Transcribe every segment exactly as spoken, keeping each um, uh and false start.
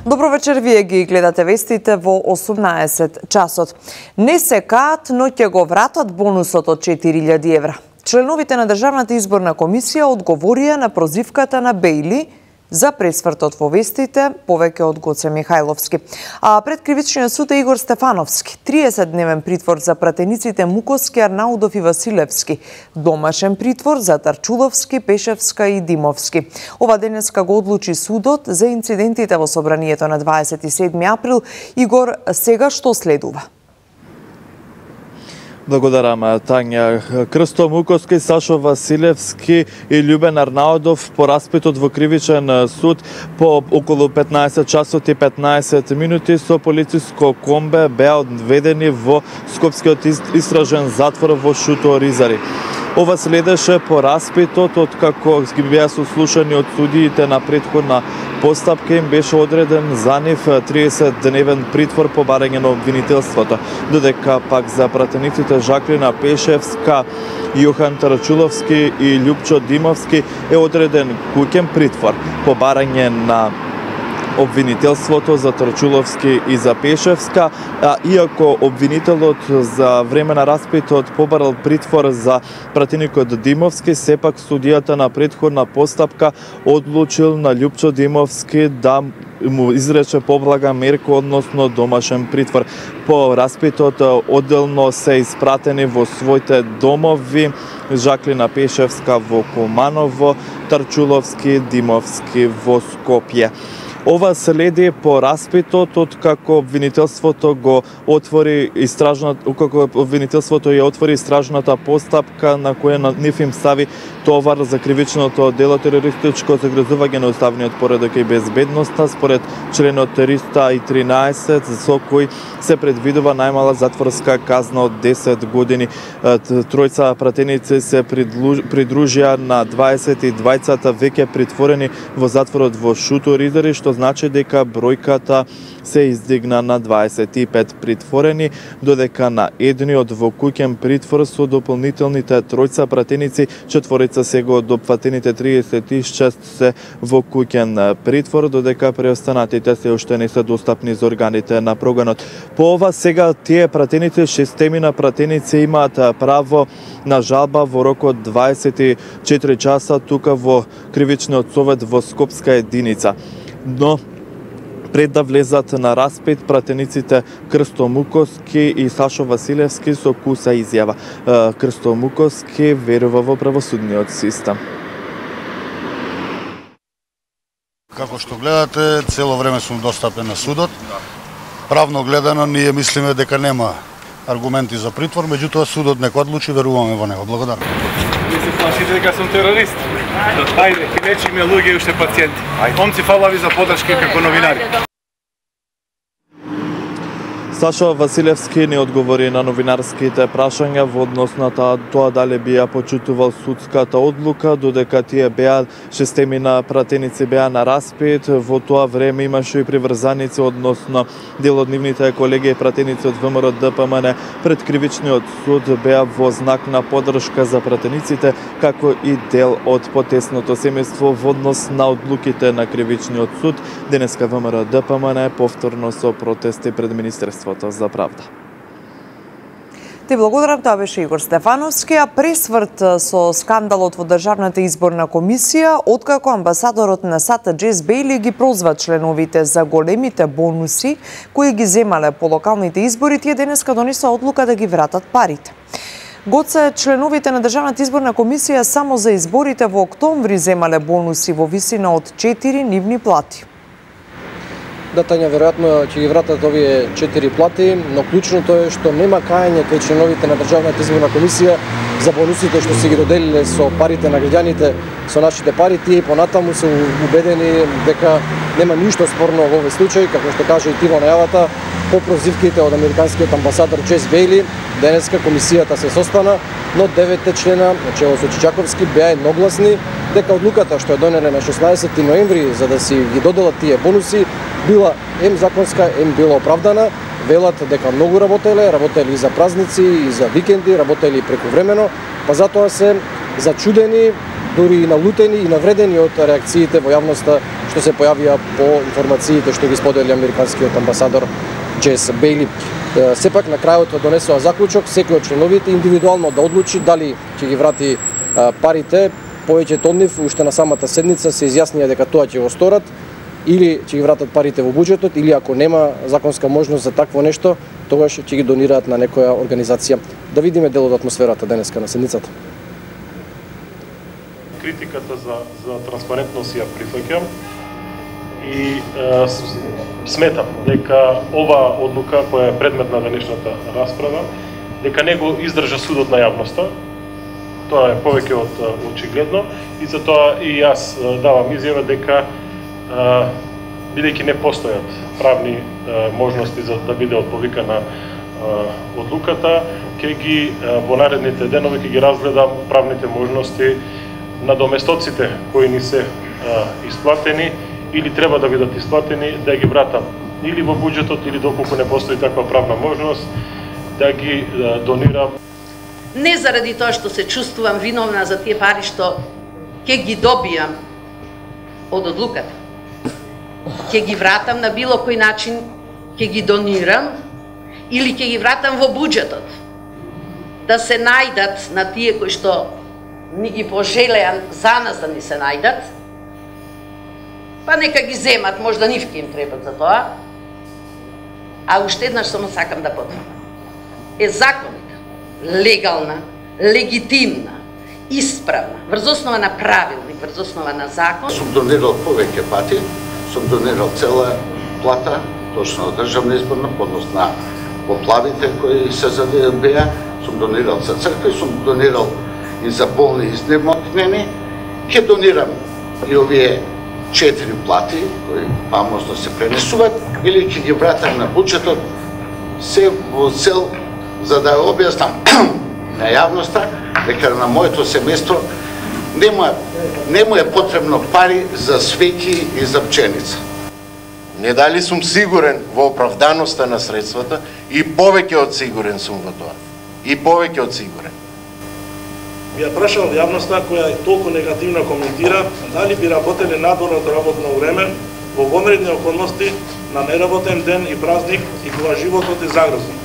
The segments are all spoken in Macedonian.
Добро вечер, вие ги гледате вестите во осумнаесет часот. Не се каат, но ќе го вратат бонусот од четири илјади евра. Членовите на Државната изборна комисија одговорија на прозивката на Бејли за пресвртот во вестите, повеќе од Гоце Михајловски. А пред кривичниот суд е Игор Стефановски. триесетдневен притвор за пратениците Муковски, Арнаудов и Василевски. Домашен притвор за Тарчуловски, Пешевска и Димовски. Ова денеска го одлучи судот за инцидентите во собранието на дваесет и седми април. Игор, сега што следува? Благодарам, Тања. Крсто Муковски, Сашо Василевски и Љубен Арнаудов по распитот во кривичен суд по околу петнаесет часот и петнаесет минути со полициско комбе беа одведени во Скопскиот истражен затвор во Шуто Ризари. Ова следеше по распитот од како ги беа сослушани од судиите на претходна постапка, им беше одреден за нив триесетдневен притвор по барање на обвинителството, додека пак за пратениците Жаклина Пешевска, Јохан Тарчуловски и Љупчо Димовски е одреден куќен притвор по барање на обвинителството за Тарчуловски и за Пешевска, а иако обвинителот за време на распитот побарал притвор за пратеникот Димовски, сепак судијата на претходна постапка одлучил на Љупчо Димовски да му изрече поблага мерка, односно домашен притвор. По распитот одделно се испратени во своите домови Жаклина Пешевска во Куманово, Тарчуловски, Димовски во Скопје. Ова следи по распитот од како обвинителството го отвори истражната како обвинителството ја отвори истражната постапка на која на нив им стави товар за кривичното дело терористичко загрозување на уставниот поредок и безбедноста според членот триста и тринаесет, со кој се предвидува најмала затворска казна од десет години. Тројца пратеници се придружија на дваесет и двајцата веќе притворени во затворот во Шуто Ризари, што значи дека бројката се издигна на дваесет и пет притворени, додека на едниот во куќен притвор со дополнителните тројца пратеници, четворица сега од допфатените триесет и шест се во куќен притвор, додека преостанатите се уште не се достапни за органите на прогонот. По ова сега тие пратеници, шестемина пратеници имаат право на жалба во рок од дваесет и четири часа тука во Кривичниот совет во Скопска единица. Но пред да влезат на распит, пратениците Крсто Муковски и Сашо Василевски со куса изјава. Крсто Муковски верува во правосудниот систем. Како што гледате, цело време сум достапен на судот. Правно гледано, ние мислиме дека нема аргументи за притвор, меѓутоа судот нека одлучи, веруваме во него. Благодарам. Ви се плашите дека сум терорист? Ајде, ќе лечиме луѓе и уште пациенти. Омци, фала ви за подршка како новинари. Сашо Василевски не одговори на новинарските прашања во однос на тоа дали би ја почитувал судската одлука, додека тие беа шестемина пратеници беа на распит. Во тоа време имаше и приврзаници, односно дел од нивните колеги и пратеници од ВМРО Д П М Н пред кривичниот суд беа во знак на поддршка за пратениците, како и дел од потесното семејство во однос на одлуките на кривичниот суд. Денеска ВМРО Д П М Н повторно со протести пред Министерството за правда. Ти благодарам, тоа беше Игор Стефановски, а пресврт со скандалот во Државната изборна комисија, откако амбасадорот на САД Джес Бејли ги прозва членовите за големите бонуси кои ги земале по локалните избори, тие денеска донесоа одлука да ги вратат парите. Гоце, членовите на Државната изборна комисија само за изборите во октомври земале бонуси во висина од четири нивни плати. Да, Тања, веројатно ќе ги вратат овие четири плати, но клучното е што нема кајање кај членовите на Државната изборна комисија за бонусите што се ги доделиле со парите на граѓаните, со нашите пари. Тие понатаму се убедени дека нема ништо спорно во овој случај, како што каже и ти во најавата, по прозивките од американскиот амбасадор Джес Бејли. Денеска комисијата се состана, но деветте члена, начело со Чичаковски, беа едногласни дека одлуката што ја донеле на шеснаесети ноември за да си ги доделат тие бонуси била ем законска, ем била оправдана. Велат дека многу работеле, работели и за празници, и за викенди, работели и прекувремено, па затоа се зачудени дури и налутени и навредени од реакциите во јавноста што се појавија по информациите што ги сподели американскиот амбасадор Джес Бејли. Сепак на крајот донесува заклучок секој од членовите индивидуално да одлучи дали ќе ги врати парите. Повеќето од нив уште на самата седница се изјаснија дека тоа ќе го сторат или ќе ги вратат парите во буџетот, или ако нема законска можност за такво нешто, тогаш ќе ги донираат на некоја организација. Да видиме дел од атмосферата денеска на седницата. Критиката за, за транспарентност ја прифаќам и е, сметам дека ова одлука која е предмет на денешната расправа, дека не го издржа судот на јавноста. Тоа е повеќе од очигледно и затоа и јас давам изјава дека бидејќи не постојат правни можности за да биде отповикана одлуката, ќе ги во наредните денови ќе ги разгледам правните можности на доместоците кои ни се исплатени или треба да бидат исплатени, да ги вратам или во буџетот или доколку не постои таква правна можност, да ги донирам. Не заради тоа што се чувствувам виновна за тие пари што ќе ги добијам од одлуката. Ќе ги вратам на било кој начин, ќе ги донирам или ќе ги вратам во буџетот. Да се најдат на тие кои што ни ги пожелеа за нас да ни се најдат, па нека ги земат, можда нив ќе им требат за тоа. А уште еднаш само сакам да потврдам. Е законита, легална, легитимна, исправна, врз основа на правилник, врз основа на закон. Сум донирал повеќе пати, сум донирал цела плата, точно од државна изборна, поднос на поплавите кои се задеја, сум донирал за цркви, сум донирал и за болни изнемокнени. Ќе донирам и овие четири плати кои фамозно се пренесуваат или ќе ги вратам на буџетот, се во цел за да објаснам на јавноста дека на моето семејство нема нема е потребно пари за свеќи и за пченица. Не дали сум сигурен во оправданоста на средствата и повеќе од сигурен сум во тоа. И повеќе од сигурен. Би ја прашал јавноста која толку негативно коментира дали би работеле надворното работно време во вонредни околности на неработен ден и празник и кога животот е загрозен.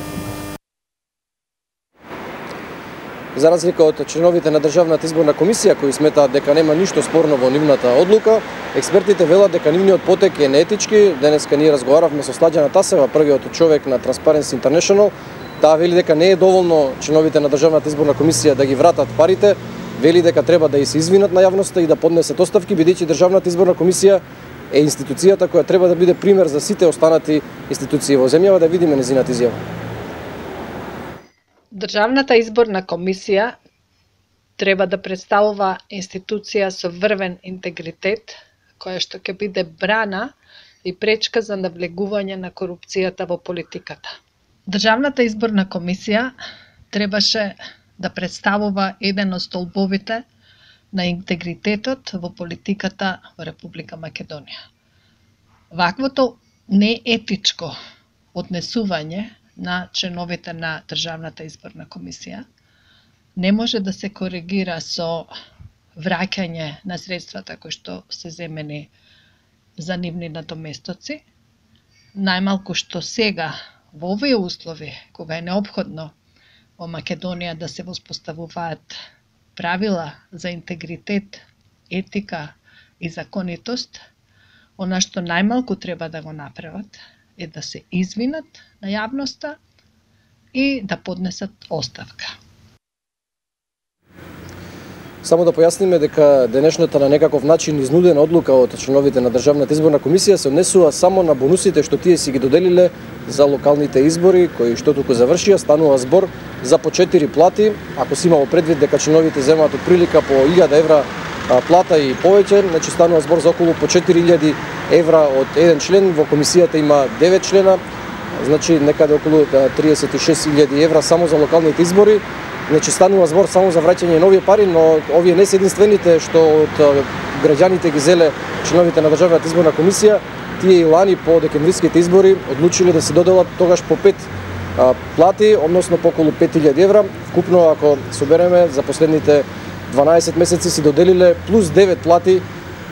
За разлика од членовите на Државната изборна комисија кои сметаат дека нема ништо спорно во нивната одлука, експертите велат дека нивниот потек е неетички. Денеска ние разговаравме со Сладјана Тасева, првиот човек на Transparency International. Таа вели дека не е доволно членовите на Државната изборна комисија да ги вратат парите, вели дека треба да и се извинат на јавноста и да поднесат оставки, бидејќи Државната изборна комисија е институцијата која треба да биде пример за сите останати институции во земјава. Да видиме незината изјава. Државната изборна комисија треба да представува институција со врвен интегритет, која што ќе биде брана и пречка за навлегување на корупцијата во политиката. Државната изборна комисија требаше да представува еден од столбовите на интегритетот во политиката во Република Македонија. Ваквото неетичко однесување на членовите на Државната изборна комисија не може да се коригира со враќање на средствата кои што се земени за нивни надоместоци, најмалку што сега во овие услови, кога е неопходно во Македонија да се воспоставуваат правила за интегритет, етика и законитост, она што најмалку треба да го направат е да се извинат на јавноста и да поднесат оставка. Само да појасниме дека денешната на некаков начин изнудена одлука од членовите на Државната изборна комисија се однесува само на бонусите што тие си ги доделиле за локалните избори, кои што туку завршија. Станува збор за по четири плати, ако си имало предвид дека членовите земаат од прилика по илјада евра плата и повеќе, значи станува збор за околу по четири илјади евра од еден член. Во комисијата има девет члена, значи некаде околу триесет и шест илјади евра само за локалните избори. Значи станува збор само за враќање нови пари, но овие не се единствените што од граѓаните ги зеле членовите на Државната изборна комисија. Тие и лани по декемвриските избори одлучиле да се доделат тогаш по пет плати, односно по околу пет илјади евра. Вкупно, ако собереме за последните дванаесет месеци си доделиле плюс девет плати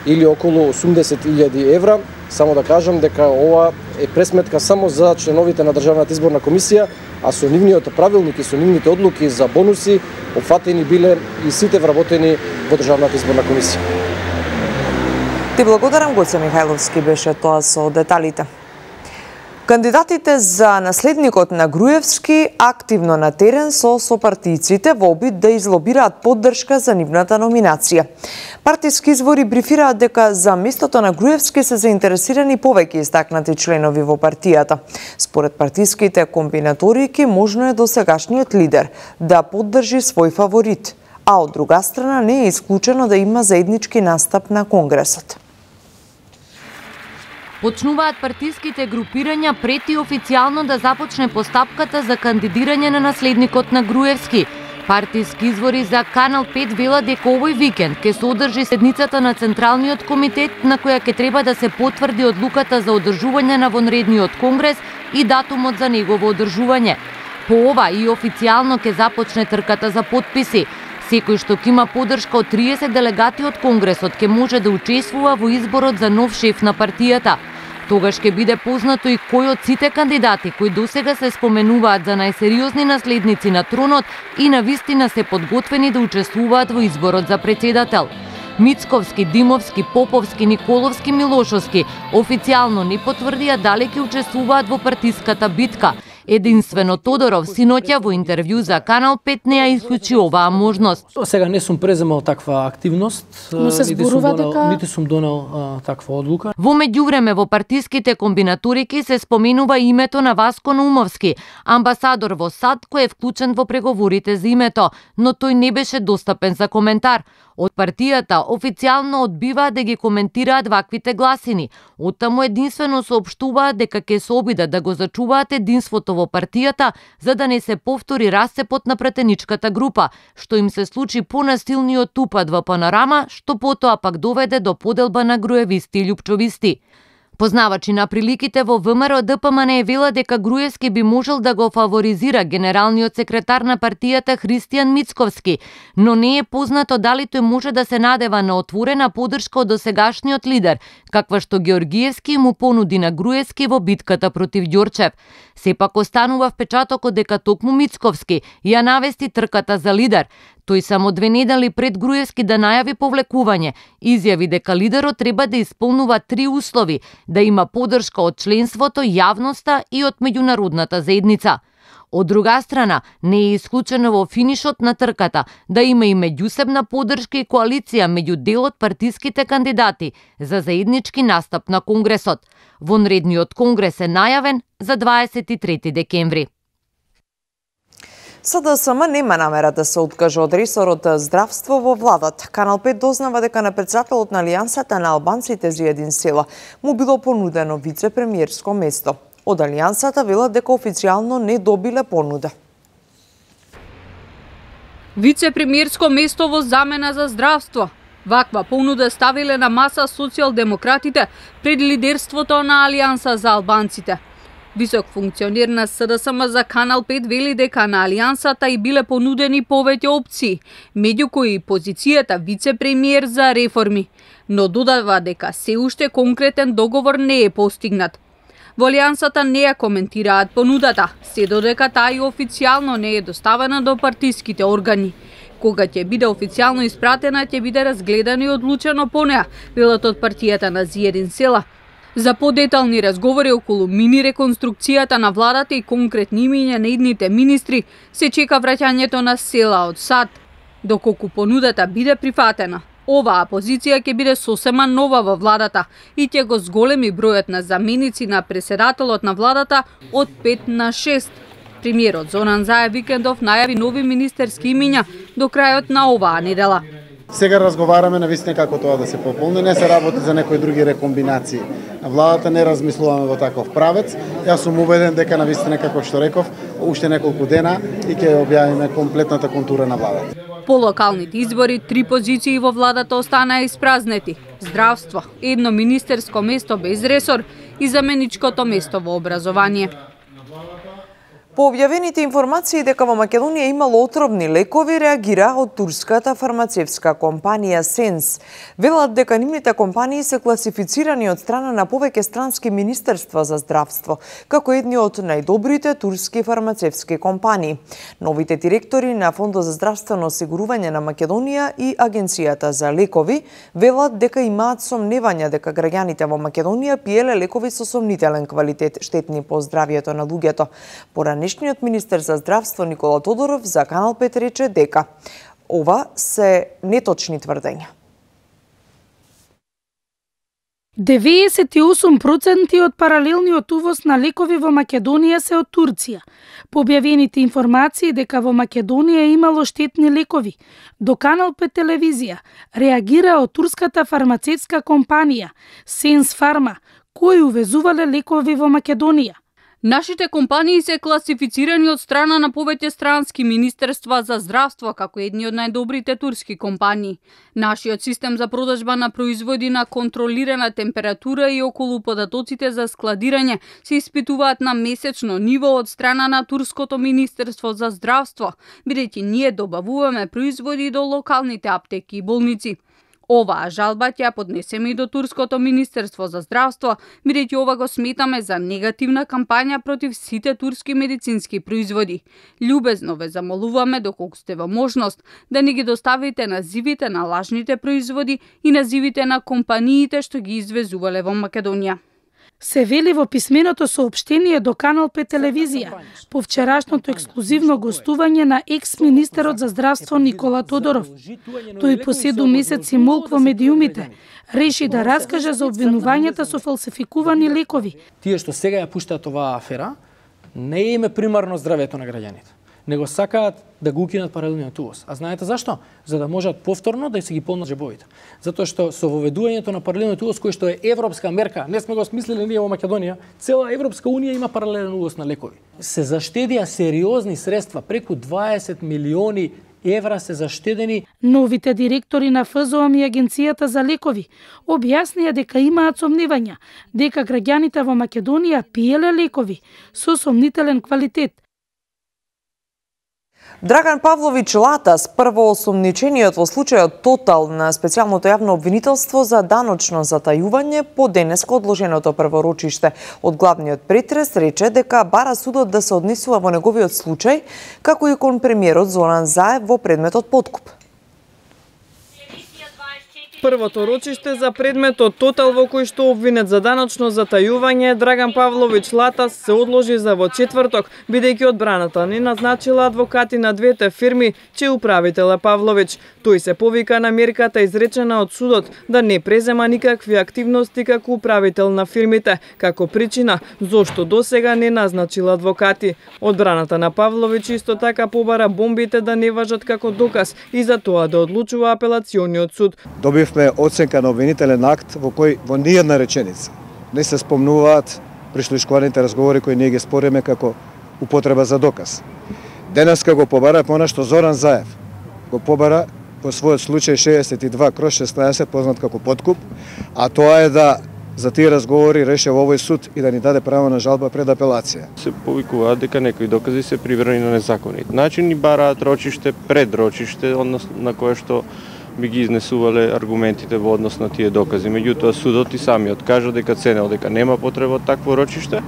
или околу осумдесет илјади евра. Само да кажам дека ова е пресметка само за членовите на Државната изборна комисија, а со нивниот правилник и со нивните одлуки за бонуси опфатени биле и сите вработени во Државната изборна комисија. Ти благодарам, Гоце Михајловски беше тоа со деталите. Кандидатите за наследникот на Груевски активно на терен со сопартијците во обид да излобираат поддршка за нивната номинација. Партиски извори брифираат дека за местото на Груевски се заинтересирани повеќе истакнати членови во партијата. Според партиските комбинаторики, можно е досегашниот лидер да поддржи свој фаворит, а од друга страна не е исклучено да има заеднички настап на Конгресот. Почнуваат партиските групирања прети официјално да започне постапката за кандидирање на наследникот на Груевски. Партиски извори за Канал пет велат дека овој викенд ќе се одржи седницата на Централниот комитет на која ќе треба да се потврди одлуката за одржување на вонредниот конгрес и датумот за негово одржување. По ова и официјално ќе започне трката за подписи. Секој што ќе има поддршка од триесет делегати од Конгресот ќе може да учествува во изборот за нов шеф на партијата. Тогаш ќе биде познато и кој од сите кандидати кои досега се споменуваат за најсериозни наследници на тронот и на вистина се подготвени да учествуваат во изборот за председател. Мицковски, Димовски, Поповски, Николовски, Милошовски официјално не потврдија дали ќе учествуваат во партиската битка. Единствено Тодоров синоќа во интервју за Канал пет не ја исклучи оваа можност. Сега не сум преземал таква активност, но се зборува дека нити сум донел а, таква одлука. Во меѓувреме во партиските комбинаторики се споменува името на Васко Наумовски, амбасадор во САД кој е вклучен во преговорите за името, но тој не беше достапен за коментар. Од партијата официјално одбиваат да ги коментираат ваквите гласини. Оттаму единствено соопштуваат дека ќе се обидат да го зачуваат единството во партијата за да не се повтори расцепот на пратеничката група, што им се случи по насилниот упад во Панорама, што потоа пак доведе до поделба на груевисти и љупчовисти. Познавачи на приликите во ВМРО Д П М Н велат дека Груевски би можел да го фаворизира генералниот секретар на партијата Христијан Мицковски, но не е познато дали тој може да се надева на отворена поддршка од досегашниот лидер, каква што Георгиевски му понуди на Груевски во битката против Ѓорчев. Сепак останува впечатокот дека токму Мицковски ја навести трката за лидер. Тој само две недели пред Груевски да најави повлекување, изјави дека лидерот треба да исполнува три услови: да има поддршка од членството, јавноста и од меѓународната заедница. Од друга страна, не е исклучено во финишот на трката да има и меѓусебна поддршка и коалиција меѓу дел од партиските кандидати за заеднички настап на Конгресот. Вонредниот конгрес е најавен за дваесет и трети декември. С Д С М нема намера да се откаже од ресорот здравство во владата. Канал пет дознава дека на председателот на Алијансата на албанците Зијадин Села му било понудено вице-премиерско место. Од Алијансата велат дека официјално не добиле понуда. Вице-премиерско место во замена за здравство. Ваква понуда ставиле на маса социјалдемократите пред лидерството на Алијанса за албанците. Висок функционер на С Д С М за Канал пет вели дека на Алијансата и биле понудени повеќе опции, меѓу кои позицијата вице-премиер за реформи, но додава дека се уште конкретен договор не е постигнат. Во Алијансата не ја коментираат понудата, се додека таа и официјално не е доставена до партиските органи. Кога ќе биде официјално испратена, ќе биде разгледана и одлучено по неа, велат од партијата на Зијадин Села. За подетални разговори околу мини реконструкцијата на владата и конкретни имиња на идните министри, се чека враќањето на Села од САД. Доколку понудата биде прифатена, оваа позиција ќе биде сосема нова во владата и ќе го зголеми бројот на заменици на преседателот на владата од пет на шест. Премиерот Зоран Заев Викендов најави нови министерски имиња до крајот на оваа недела. Сега разговараме на вистина како тоа да се пополни, не се работи за некои други рекомбинации. Владата не размислуваме во таков правец. Јас сум убеден дека на вистина, како што реков, уште неколку дена и ќе објавиме комплетната контура на владата. По локалните избори, три позиции во владата останаа испразнети. Здравство, едно министерско место без ресор и заменичкото место во образование. По објавените информации дека во Македонија имало отровни лекови, реагира од турската фармацевтска компанија Сенс. Велат дека нивните компании се класифицирани од страна на повеќе странски министерства за здравство, како едни од најдобрите турски фармацевтски компании. Новите директори на Фондот за здравствено осигурување на Македонија и Агенцијата за лекови велат дека имаат сомневања дека граѓаните во Македонија пиеле лекови со сомнителен квалитет, штетни по здравието на луѓето. Поранешниот министер за здравство Никола Тодоров за Канал пет рече дека ова се неточни тврдења. деветдесет и осум проценти од паралелниот увоз на лекови во Македонија се од Турција. По објавените информации дека во Македонија имало штетни лекови, до Канал пет телевизија реагира од турската фармацевтска компанија Сенс Фарма, кои увезувале лекови во Македонија. Нашите компании се класифицирани од страна на повеќе странски министерства за здравство како едни од најдобрите турски компании. Нашиот систем за продажба на производи на контролирана температура и околу податоците за складирање се испитуваат на месечно ниво од страна на турското министерство за здравство, бидејќи ние добавуваме производи до локалните аптеки и болници. Оваа жалба ќе поднесеме и до турското министерство за здравство, бидејќи ова го сметаме за негативна кампања против сите турски медицински производи. Љубезно ве замолуваме, доколку сте во можност, да ни ги доставите називите на лажните производи и називите на компаниите што ги извезувале во Македонија. Се вели во писменото соопштение до Канал пет телевизија по вчерашното ексклузивно гостување на екс-министерот за здравство Никола Тодоров. Тој по седум месеци молк во медиумите реши да раскаже за обвинувањата со фалсификувани лекови. Тие што сега ја пуштаат оваа афера, не е име примарно здравјето на граѓаните, него сакаат да го укинат паралелниот увоз. А знаете зашто? За да можат повторно да се ги полнат джебовите. Затоа што со воведувањето на паралелниот увоз, кој што е европска мерка, не сме го смислили ние во Македонија, цела Европска унија има паралелен увоз на лекови. Се заштедија сериозни средства, преку дваесет милиони евра се заштедени. Новите директори на ФЗОМ и Агенцијата за лекови објаснија дека имаат сомневања дека граѓаните во Македонија пиеле лекови со сомнителен квалитет. Драган Павлович Латас, првоосомничениот во случајот Тотал на специјалното јавно обвинителство за даночно затајување по денеска одложеното прворочиште од главниот претрес, рече дека бара судот да се однесува во неговиот случај, како и кон премиерот Зоран Заев во предметот подкуп. Првото рочиште за предметот Тотал во кој што обвинет за даночно затајување Драган Павлович Латас се одложи за во четврток, бидејќи одбраната не назначила адвокати на двете фирми, чиј управител е Павлович. Тој се повика на мерката изречена од судот да не презема никакви активности како управител на фирмите, како причина зошто досега не назначила адвокати. Одбраната на Павлович исто така побара бомбите да не важат како доказ и за тоа да одлучува апелациониот суд. Добивме оценка на обвинителен акт во кој во ниједна реченица не се спомнуваат прислушкуваните разговори кои ние ги спориме како употреба за доказ. Денеска го побара понешто Зоран Заев. Го побара по својот случај шеесет и два кроз шеснаесет познат како подкуп, а тоа е да за тие разговори реше во овој суд и да ни даде право на жалба пред апелација. Се повикуваат дека некои докази се приврени на незаконит начин и бараат рочиште пред рочиште, односно на кое што би ги изнесувале аргументите во однос на тие докази. Меѓутоа судот и самиот кажа дека ценел дека нема потреба од такво рочиште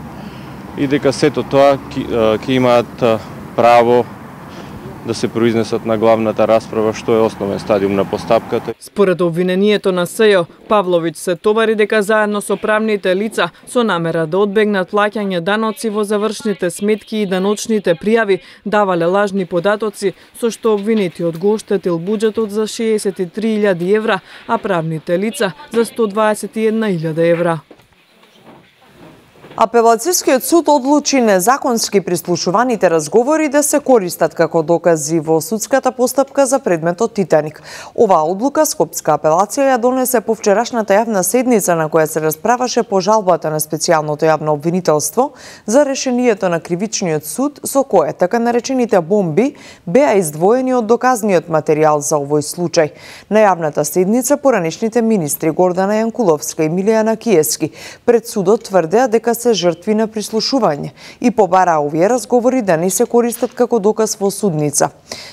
и дека сето тоа ќе имаат право да се произнесат на главната расправа, што е основен стадиум на постапката. Според обвинението на СЈО, Павлович се товари дека заедно со правните лица со намера да одбегнат плаќање даноци во завршните сметки и даночните пријави давале лажни податоци, со што обвинетиот го оштетил буџетот за шеесет и три илјади евра, а правните лица за сто дваесет и една илјада евра. Апелацијскиот суд одлучи незаконски прислушуваните разговори да се користат како докази во судската постапка за предметот Титаник. Оваа одлука Скопска апелација ја донесе по вчерашната јавна седница на која се расправаше по жалбата на специјалното јавно обвинителство за решението на кривичниот суд со кое така наречените бомби беа издвоени од доказниот материјал за овој случај. На јавната седница поранешните министри Гордана Јанкуловска и Милијана Киески пред судот тврдеа дека се се жртви на прислушување и побараа овие разговори да не се користат како доказ во судница.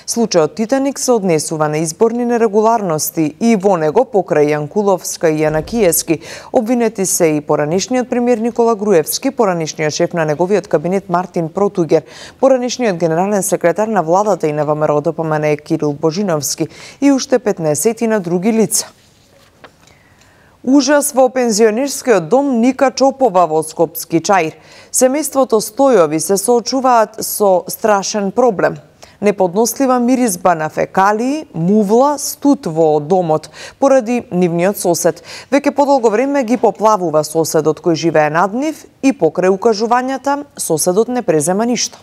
Случајот Титаник се однесува на изборни нерегуларности и во него покрај Јанкуловска и Јанакиевски обвинети се и поранишниот премиер Никола Груевски, поранишниот шеф на неговиот кабинет Мартин Протугер, поранишниот генерален секретар на владата и на ВМРО Д П М Н Кирил Божиновски и уште петнаесет на други лица. Ужас во пензионерскиот дом Ника Чопова во Скопски Чаир. Семејството Стојови се соочуваат со страшен проблем. Неподнослива миризба на фекалии, мувла, студ во домот, поради нивниот сосед. Веќе подолго време ги поплавува соседот кој живее над нив и покрај укажувањата соседот не презема ништо.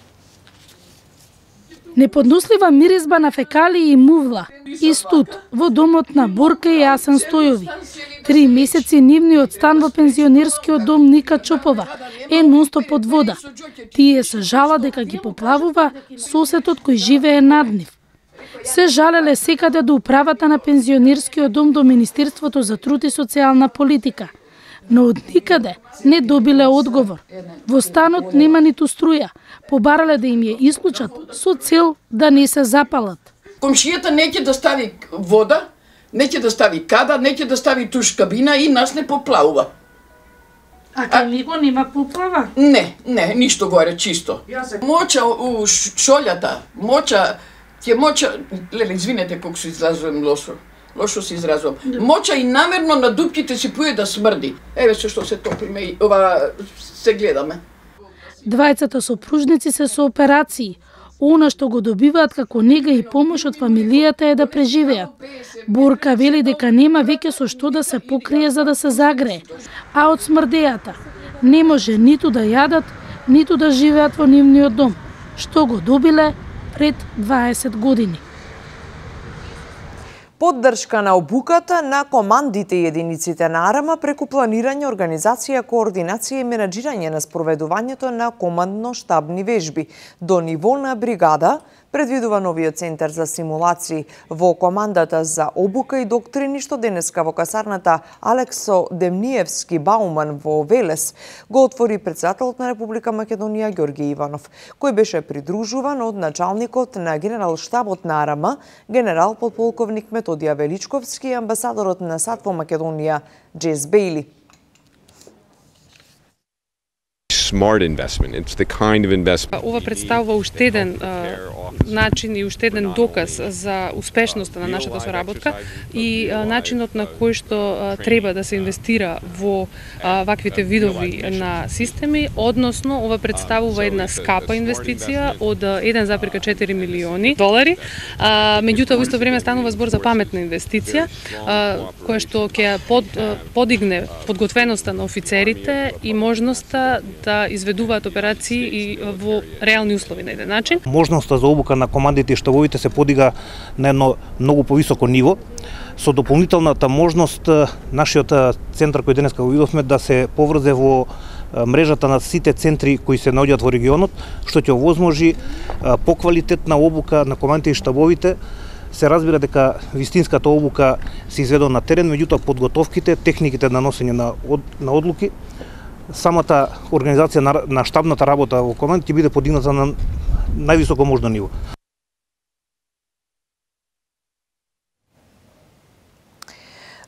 Неподнослива миризба на фекалии и мувла и студ во домот на Борка и Јасен Стојови. Три месеци нивниот стан во пензионерскиот дом Ника Чопова е нонстоп под вода. Тие се жала дека ги поплавува соседот кој живее над нив. Се жалеле секаде до управата на пензионерскиот дом до Министерството за труд и социјална политика, но од никаде не добиле одговор. Во станот нема ниту струја. Побарале да им ја исклучат со цел да не се запалат. Комшијата неќе да стави вода, неќе да стави када, неќе да стави туш кабина и нас не поплавува. А кај него нема поплава? Не, не, ништо горе, чисто. Моча у шолјата, моча, ќе моча, леле, извинете колку се изразувам лошо. Лошо се изразувам. Моча и намерно на дупките си пуе да смрди. Еве се што се топлиме и ова се гледаме. Двајцата сопружници се со операции. Она што го добиваат како нега и помош од фамилијата е да преживеат. Борка вели дека нема веќе со што да се покрие за да се загрее, а од смрдејата не може ниту да јадат, ниту да живеат во нивниот дом, што го добиле пред дваесет години. Поддршка на обуката на командите и единиците на АРМА преку планирање, организација, координација и менаџирање на спроведувањето на командно-штабни вежби до ниво на бригада, предвидува новиот центар за симулации во командата за обука и доктрини што денеска во касарната Алексо Демниевски Бауман во Велес го отвори претседателот на Република Македонија Ѓорги Иванов, кој беше придружуван од началникот на генерал-штабот на АРМА, генерал подполковник Методија Величковски и амбасадорот на САД во Македонија Джес Бейли. Smart investment. It's the kind of investment. Ова представува уште еден начин и уште еден доказ за успешноста на нашата соработка и начинот на кој што треба да се инвестира во ваквите видови на системи, односно ова представува една скапа инвестиција од еден зарез четири милиони долари, меѓутоа во исто време станува збор за паметна инвестиција која што ќе под, подигне подготвеноста на офицерите и можноста да изведуваат операции и во реални услови на еден начин. Можноста за обука на командите и штабовите се подига на едно многу повисоко ниво. Со дополнителната можност нашиот центар кој денеска го видовме да се поврзе во мрежата на сите центри кои се наоѓаат во регионот, што ќе овозможи поквалитетна обука на командите и штабовите. Се разбира дека вистинската обука се изведува на терен, меѓутоа подготовките, техниките на носење на, од, на одлуки, самата организација на, на штабната работа во команд ќе биде подигната на највисоко можно ниво.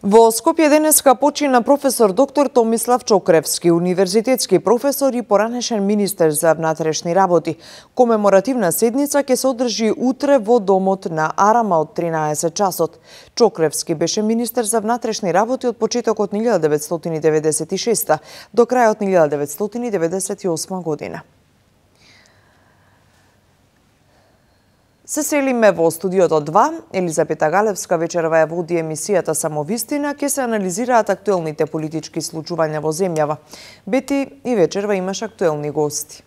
Во Скопје денеска почина професор доктор Томислав Чокревски, универзитетски професор и поранешен министер за внатрешни работи. Комеморативна седница ќе се одржи утре во домот на АРМА од тринаесет часот. Чокревски беше министер за внатрешни работи од почетокот на илјада деветстотини деветдесет и шеста до крајот на илјада деветстотини деветдесет и осма година. Се селиме во студиото два. Елизапета Галевска вечерва ја води емисијата Самовистина, ке се анализираат актуелните политички случувања во земјава. Бети и вечерва имаш актуелни гости.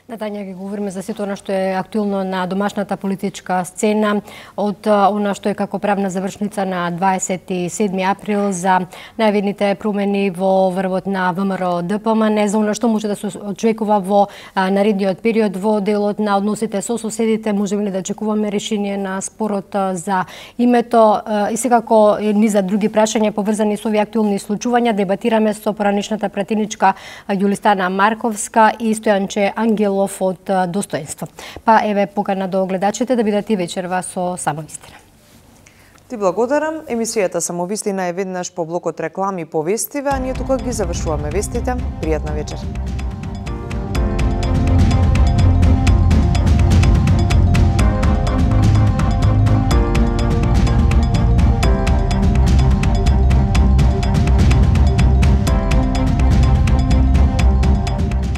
На Тања ги говориме за сето она што е актуелно на домашната политичка сцена, од она што е како правна завршница на дваесет и седми април за најавидните промени во врвот на ВМРО Д П М Н, за она што може да се очекува во наредниот период во делот на односите со соседите, можеме ли да очекуваме решение на спорот за името и секако низа други прашања поврзани со овие актуелни случувања. Дебатираме со поранешната пратеничка Јулистана Марковска и Стојанче Ангелов од Достоинство. Па еве покана до гледачите да бидат и вечерва со Само вистина. Ти благодарам. Емисијата Само вистина е веднаш по блокот реклами и повестиве, а ние тука ги завршуваме вестите. Пријатна вечер.